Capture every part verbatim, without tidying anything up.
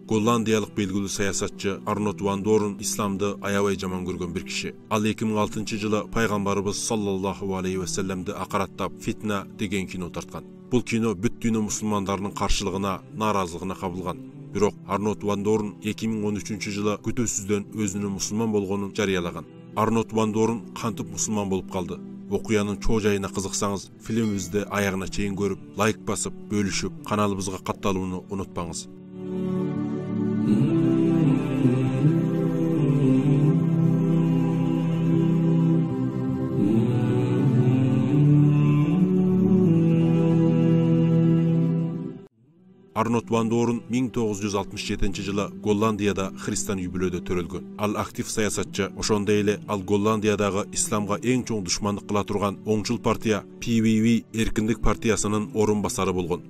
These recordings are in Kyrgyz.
Голландиялык белгилүү саясатчы Арнольд ван Дорн исламды аябай жаман көргөн бир киши. Ал эки миң алтынчы жылы пайгамбарыбыз саллаллаху алейхи ва салламды акараттап Фитна деген кино тарткан. Бул кино бүт дүйнө мусулмандарынын каршылыгына, нааразылыгына кабылган. Бирок Арнольд ван Дорн эки миң он үчүнчү жылы күтүүсүздөн өзүнүн мусулман болгонун жарыялаган. Арнольд ван Дорн кантип мусулман болуп калды? Окуянын чоо жайына кызыксаңыз, фильмибизди аягына чейин көрүп, лайк басып, бөлүшүп, каналыбызга катталууну унутпаңыз. Арнольд ван Дорн миң тогуз жүз алтымыш жетинчи жылы Голландияда христиан үй-бүлөдө төрөлгөн. Ал актив саясатчы, ошондой эле ал Голландиядагы исламга эң чоң душмандык кыла турган оңчул партия P V V эркиндик партиясынын орун басары болгон.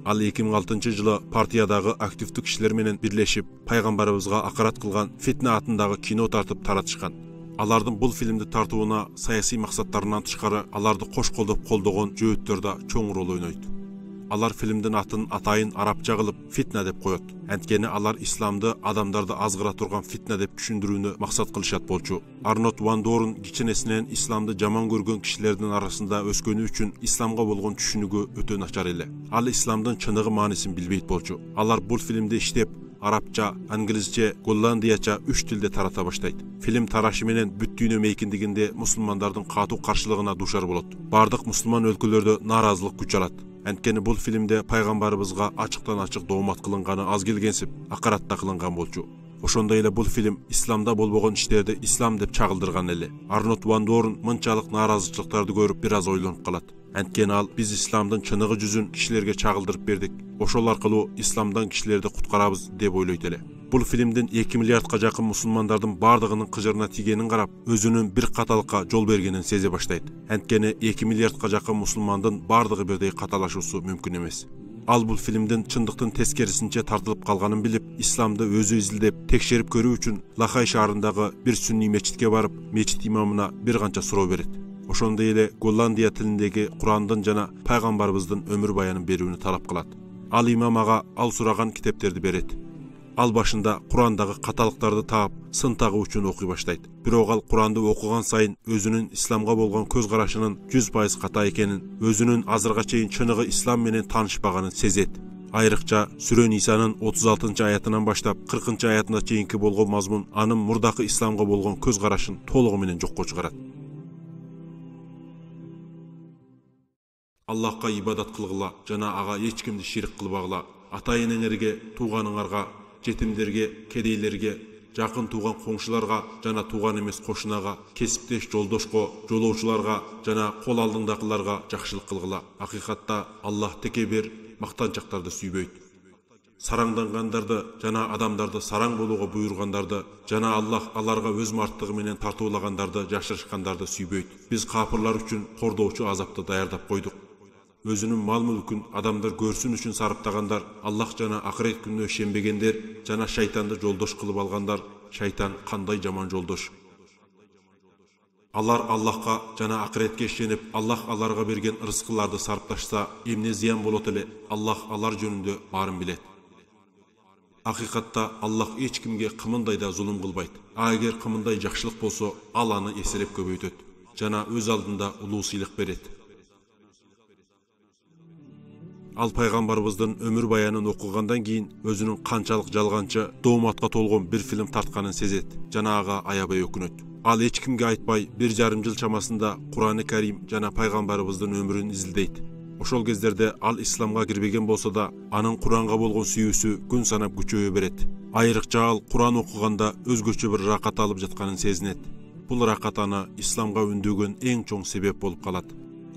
Ал эки миң алтынчы жылы партиядагы активдүү кишилер менен бирлешип, пайгамбарыбызга акарат кылган Фитна атындагы кино тартып таратышкан. Алардын бул фильмди тартууна саясий максаттарынан тышкары аларды кош колдоп колдогон жөөттөр да чоң роль ойнойт. Алар фильмдин атын атайын арабча кылып Фитна деп коет. Анткени алар исламды адамдарды азгыра турган фитна деп түшүндүрүүнү максат кылышат болчу. Арнольд ван Дорн кичинесинен исламды жаман көргөн кишилердин арасында өскөнү үчүн исламга болгон түшүнүгү өтө начар эле. Ал исламдын чыныгы маанисин билбейт болчу. Алар бул фильмди иштеп, арабча, англисче, голландияча үч тилде тарата баштайт. Фильм тарашы менен бүт дүйнө мейкиндигинде мусулмандардын катуу каршылыгына душар болот. Бардык мусулман өлкөлөрдө нааразылык күч алат. Анткени бул фильмде пайгамбарыбызга ачыктан ачык доомат кылынганы аз келгенсип, акаратта кылынган болчу. Ошондой эле бул фильм исламда болбогон иштерди ислам деп чагылдырган эле. Арнольд ван Дорн мынчалык нааразычылыктарды көрүп бир аз ойлонуп калат. Анткени ал биз исламдын чыныгы жүзүн кишилерге чагылдырып бердик. Ошол аркылуу исламдан кишилерди куткарабыз деп ойлойт эле. Бул фильмдин эки миллиардка жакын мусулмандардын бардыгынын кыжырына тигенин карап, өзүнүн бир каталыкка жол бергенин сезе баштайт. Анткени эки миллиардка жакын мусулмандын бардыгы бирдей каталашуусу мүмкүн эмес. Ал бул фильмдин чындыктын тескерисинче тартылып калганын билип, исламды өзү изилдеп, текшерип көрүү үчүн Лахай шаарындагы бир сүнний мечитке барып, мечит имамына бир канча суроо берет. Ошондой эле Голландия тилиндеги Курандын жана пайгамбарыбыздын өмүр баянын берүүнү талап кылат. Ал имам ага ал сураган китептерди берет. Ал башында Курандагы каталыктарды таап, сын тагуу үчүн окуй баштайт. Бирок ал Куранды окуган сайын өзүнүн исламга болгон көз карашынын жүз пайыз ката экенин, өзүнүн азырга чейин чыныгы ислам менен таанышпаганын сезет. Айрыкча Сүрө Нисанын отуз алтынчы аятынан баштап кыркынчы аятына чейинки болгон мазмун анын мурдакы исламга болгон көз карашын толугу менен жокко чыгарат. Аллахка ибадат кылгыла жана ага эч кимди ширк кылбагыла. Ата-энеңерге, тууганыңарга, жетимдерге, кедейлерге, жакын тууган коңшуларга жана тууган эмес кошунага, кесиптеш жолдошко, жолоочуларга жана кол алдыңдакыларга жакшылык кылгыла. Акыйкатта Аллах текебер, мактанчактарды сүйбөйт. Сараңдангандарды жана адамдарды сараң болууга буйругандарды жана Аллах аларга өз марттыгы менен тартуулагандарды жашырышкандарды сүйбөйт. Биз капырлар үчүн кордоочу азапты даярдап койдук. Өзүнүн мал-мүлкүн адамдар көрсүн үчүн сарыптагандар, Аллах жана акырет күнүнө ишенбегендер жана шайтанды жолдош кылып алгандар, шайтан кандай жаман жолдош. Алар Аллахка жана акыретке ишенип, Аллах аларга берген рызкыларды сарпташса, эмне зыян болот эле? Аллах алар жөнүндө баарын билет. Акыйкатта Аллах эч кимге кымындай да зулум кылбайт. А эгер кымындай жакшылык болсо, ал аны эселеп көбөйтөт жана өз алдында улуу сыйлык берет. Ал пайгамбарыбыздын өмүр баянын окугандан кийин өзүнүн канчалык жалганчы, дооматка толгон бир фильм тартканын сезет жана ага аябай өкүнөт. Ал эч кимге айтпай, бир жарым жыл чамасында Кураны Карим жана пайгамбарыбыздын өмүрүн изилдейт. Ошол кездерде ал исламга кирбеген болсо да, анын Куранга болгон сүйүүсү күн санап күчөйө берет. Айрыкча ал Куран окуганда өзгөчө бир ракат алып жатканын сезинет. Бул ракат аны исламга үндөгөн эң чоң себеп болуп калат.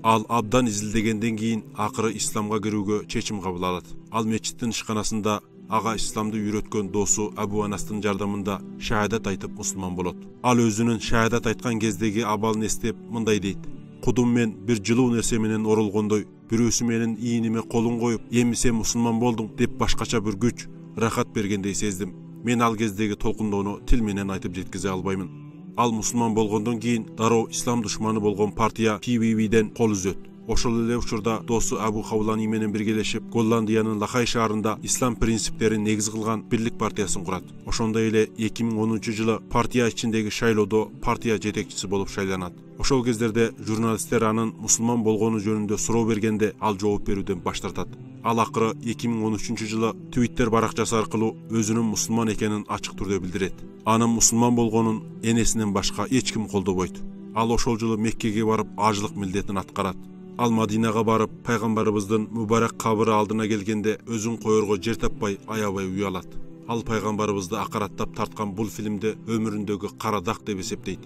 Ал абдан изилдегенден кийин акыры исламга кирүүгө чечим кабыл алат. Ал мечиттин ишканасында ага исламды үйрөткөн досу Абу Анастын жардамында шаадат айтып мусулман болот. Ал өзүнүн шаадат айткан кездеги абалын эстеп мындай дейт: "Кудум мен бир жылуу нерсе менен оролгондой, бирөөсү менин ийиниме колун коюп, эми сен мусулман болдуң деп башкача бир күч, рахат бергендей сездим. Мен ал кездеги толкундоону тил менен айтып жеткизе албаймын." Ал мусулман болгондон кийин дароо ислам душманы болгон партия P V V'ден кол үзөт. Ошол эле учурда досу Абу Хавлани менен биргелешип Голландиянын Лахай шаарында ислам принциптерин негиз кылган Бирлик партиясын курат. Ошондой эле эки миң онунчу жылы партия ичиндеги шайлоодо партия жетекчиси болуп шайланат. Ошол кездерде журналисттер анын мусулман болгону жөнүндө суроо бергенде ал жооп берүүдөн баш тартат. Ал акыры эки миң он үчүнчү жылы Twitter баракчасы аркылуу өзүнүн мусулман экенин ачык түрдө билдирет. Анын мусулман болгонун энесинен башка эч ким колдобойт. Ал ошол жылы Меккеге барып ажылык милдетин аткарат. Ал Мадинага барып, пайгамбарыбыздын мубарак кабыры алдына келгенде өзүн коерго жер таппай, аябай уялат. Ал пайгамбарыбызды акараттап тарткан бул фильмди өмүрүндөгү кара дак деп эсептейт.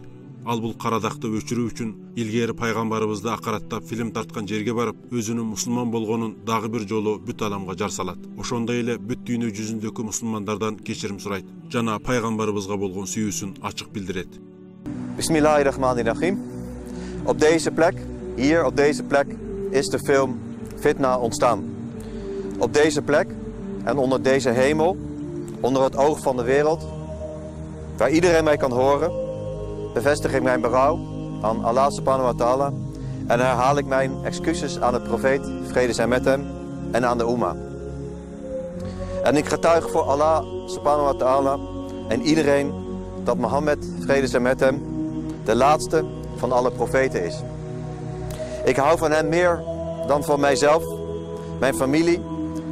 Ал бул кара дакты өчүрүү үчүн илгери пайгамбарыбызды акараттап фильм тарткан жерге барып, өзүнүн мусулман болгонун дагы бир жолу бүт аламга жар салат. Ошондой эле бүт дүйнө жүзүндөгү мусулмандардан кечирим сурайт жана пайгамбарыбызга болгон сүйүүсүн ачык билдирет. Bismillahirrahmanirrahim. Op deze plek, hier op deze plek, is de film Fitna ontstaan. Op deze plek en onder deze hemel, onder het oog van de wereld, waar iedereen mij kan horen, bevestig ik mijn berouw aan Allah subhanahu wa ta'ala en herhaal ik mijn excuses aan de profeet, vrede zij met hem, en aan de Ummah. En ik getuig voor Allah subhanahu wa ta'ala en iedereen dat Mohammed, vrede zij met hem, de laatste van alle profeten is. Ik hou van hem meer dan van mijzelf, mijn familie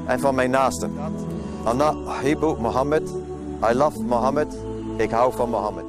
en van mijn naasten. Ana ahibbu Mohammed, I love Mohammed, ik hou van Mohammed.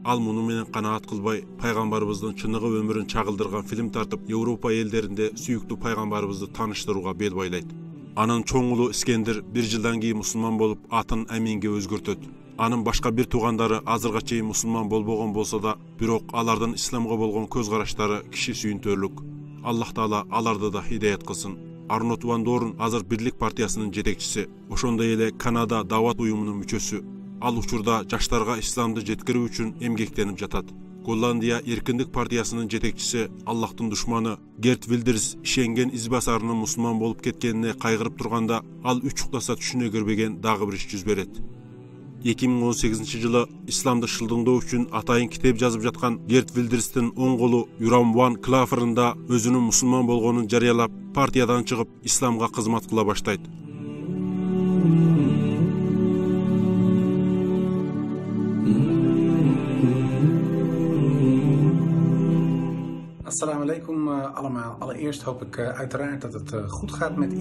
Ал муну менен канаат кылбай, пайгамбарыбыздын чыныгы өмүрүн чагылдырган фильм тартып, Европа элдеринде сүйүктүү пайгамбарыбызды тааныштырууга бел байлайт. Анын чоң уулу Искендир бир жылдан кийин мусулман болуп, атын Аминге өзгөртөт. Анын башка бир туугандары азырга чейин мусулман болбогон болсо да, бирок алардын исламга болгон көз караштары киши сүйүнтөрлүк. Аллах Таала аларды да хидаят кылсын. Арнот Ван Дорн азыр Бирлик партиясынын жетекчиси, ошондой эле Канада Дават уюмунун мүчөсү. Ал учурда жаштарга исламды жеткирүү үчүн эмгектенип жатат. Голландия Эркиндик партиясынын жетекчиси, Аллахтын душманы Герт Вилдерс ишенген избасарынын мусулман болуп кеткенине кайгырып турганда, ал үч уктаса түшүнө кирбеген дагы бир иш жүз берет. эки миң он сегизинчи жылы исламды шылдыңдоо үчүн атайын китеп жазып жаткан Герт Вилдерстин оң колу Юрам Ван Клаферында өзүнүн мусулман болгонун жарыялап, партиядан чыгып, исламга кызмат кыла баштайт. Assalamu alaikum allemaal. Allereerst hoop ik uh, uiteraard dat het uh, goed gaat met u.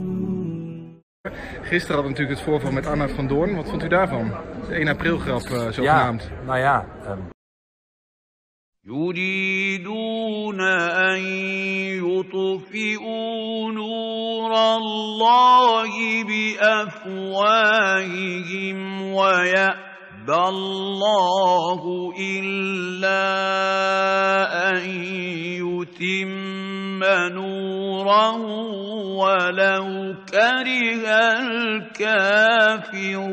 Gisteren hadden we natuurlijk het voorval met Arnoud van Doorn. Wat vond u daarvan? De één april grap, uh, zogenaamd. Ja, nou ja. Um... يريدون أن يطفئوا نور الله بأفواههم ويأبى الله إلا أن يتم نوره ولو كره الكافرون